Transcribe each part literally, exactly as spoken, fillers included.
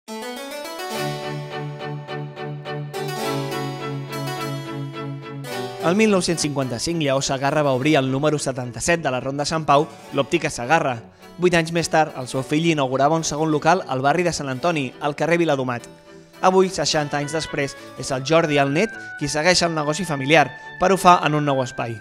El mil nou-cents cinquanta-cinc, Lleó Segarra va obrir el número setanta-set de la Ronda Sant Pau, l'Òptica Segarra. Vuit anys més tard, el seu fill inaugurava un segon local al barri de Sant Antoni, al carrer Viladomat. Avui, seixanta anys després, és el Jordi, el net, qui segueix el negoci familiar, però ho fa en un nou espai.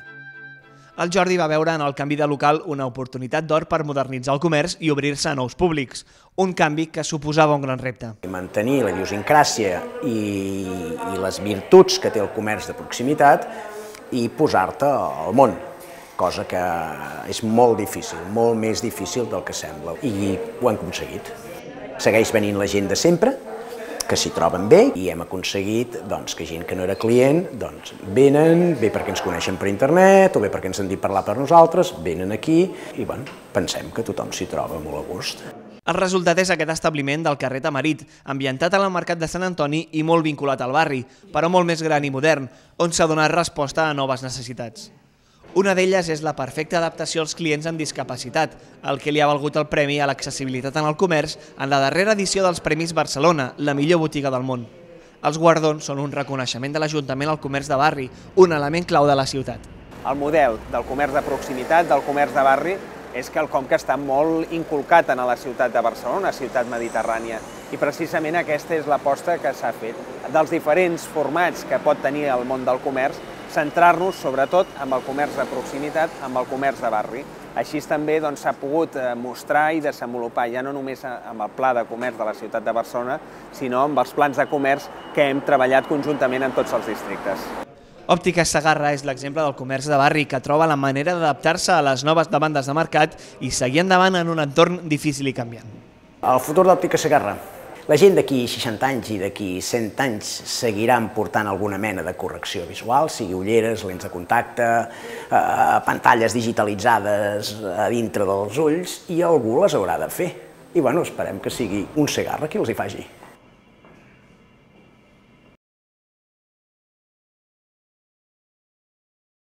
El Jordi va veure en el canvi de local una oportunitat d'or per modernitzar el comerç i obrir-se a nous públics, un canvi que suposava un gran repte. Mantenir la idiosincràsia i, i les virtuts que té el comerç de proximitat i posar-te al món, cosa que és molt difícil, molt més difícil del que sembla, i ho hem aconseguit. Segueix venint la gent de sempre, que s'hi troben bé, i hem aconseguit doncs, que gent que no era client doncs, venen, bé perquè ens coneixen per internet o bé perquè ens han dit parlar per nosaltres, venen aquí i bueno, pensem que tothom s'hi troba molt a gust. El resultat és aquest establiment del carrer Tamarit, ambientat al mercat de Sant Antoni i molt vinculat al barri, però molt més gran i modern, on s'ha donat resposta a noves necessitats. Una d'elles és la perfecta adaptació als clients amb discapacitat, el que li ha valgut el premi a l'accessibilitat en el comerç en la darrera edició dels Premis Barcelona, la millor botiga del món. Els guardons són un reconeixement de l'Ajuntament al comerç de barri, un element clau de la ciutat. El model del comerç de proximitat, del comerç de barri, és quelcom que està molt inculcat en la ciutat de Barcelona, una ciutat mediterrània, i precisament aquesta és l'aposta que s'ha fet. Dels diferents formats que pot tenir el món del comerç, centrar-nos sobretot amb el comerç de proximitat, amb el comerç de barri. Així també s'ha pogut mostrar i desenvolupar ja no només amb el pla de comerç de la ciutat de Barcelona, sinó amb els plans de comerç que hem treballat conjuntament en tots els districtes. Òptica Segarra és l'exemple del comerç de barri que troba la manera d'adaptar-se a les noves demandes de mercat i seguir endavant en un entorn difícil i canviant. El futur d'Òptica Segarra. La gent d'aquí seixanta anys i d'aquí cent anys seguiran portant alguna mena de correcció visual, sigui ulleres, lents de contacte, eh, pantalles digitalitzades a dintre dels ulls, i algú les haurà de fer. I bueno, esperem que sigui un Segarra qui els hi faci.